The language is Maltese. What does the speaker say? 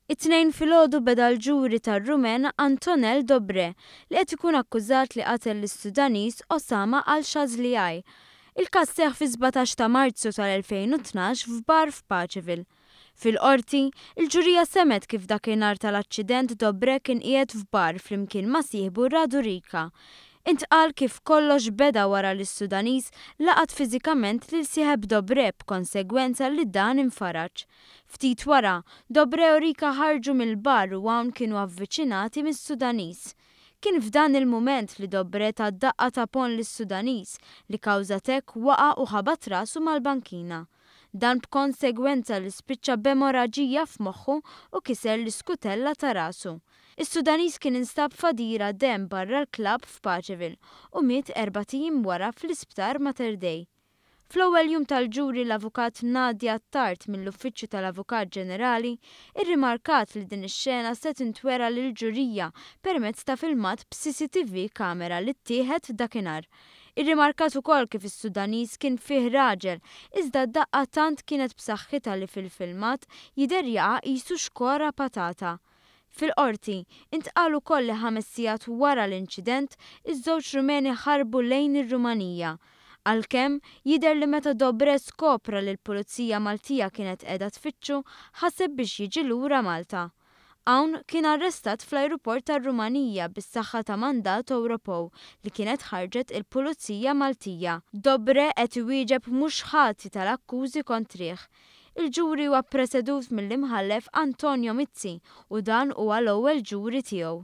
It-Tnejn filgħodu beda l-ġuri tar-Rumen Antonel Dobre li qed ikun akkużat li qatel lis-Sudaniż Osama Al-Shazliai. Il-każ seħħ fis-17 ta' Marzu tal-2012 f'bar f'Paceville. Fil-Qorti, il-ġurija semgħet kif dakinhar tal-aċċident Dobre kien qiegħed f'bar flimkien ma' sieħbu Radu Rica. Intqal kif kollox beda wara li s-Sudaniż laqat fiżikament lil sieħeb Dobre b'konsegwenza li dan infaraġ. Ftit wara, Dobre u Rica ħarġu mill-bar u hawn kienu avviċinati mis-Sudaniż. Kien f'dan il-mument li Dobre ta daqqa ta' ponn lis-Sudaniż li kawża t'hekk waqa' u ħabat rasu mal-bankina. Dan b'konsegwenza li spiċċa b'emoraġija f'moħħu u kiser l-iskutella ta' rasu. Is-Sudaniż kien instab f'għadira demm barra l-klabb f'Paceville u miet erbat ijiem wara fl-Isptar Mater Dei. Fl-ewwel jum tal-ġuri l-Avukat Nadia Attard mill-Uffiċċju tal-Avukat Ġenerali rrimarkat li din ix-xena se tintwera lill-ġurija permezz ta' filmat b'CCTV camera li ttieħed dakinhar. Irrimarkat ukoll kif is-Sudaniż kien fih raġel iżda d-daqqa tant kienet b'saħħitha li fil-filmat jidher jaqa' qisu xkora patata. Fil-Qorti, intqal ukoll li ħames sigħat wara l-inċident, iż-żewġ Rumeni ħarbu lejn ir-Rumanija. Għalkemm, jidher li meta Dobre skopra li l-Pulizija Maltija kienet qiegħda tfittxu, ħaseb biex jiġi lura Malta. Hawn, kien arrestat fl-ajruport tar-Rumanija bis-saħħa ta' mandat Ewropew li kienet ħarġet il-Pulizija Maltija. Dobre qed iwieġeb mhux ħati tal-akkużi kontrih. Il-ġuri huwa ppresedut mill-Imħallef Antonio Mizzi u dan huwa l-ewwel ġuri tiegħu.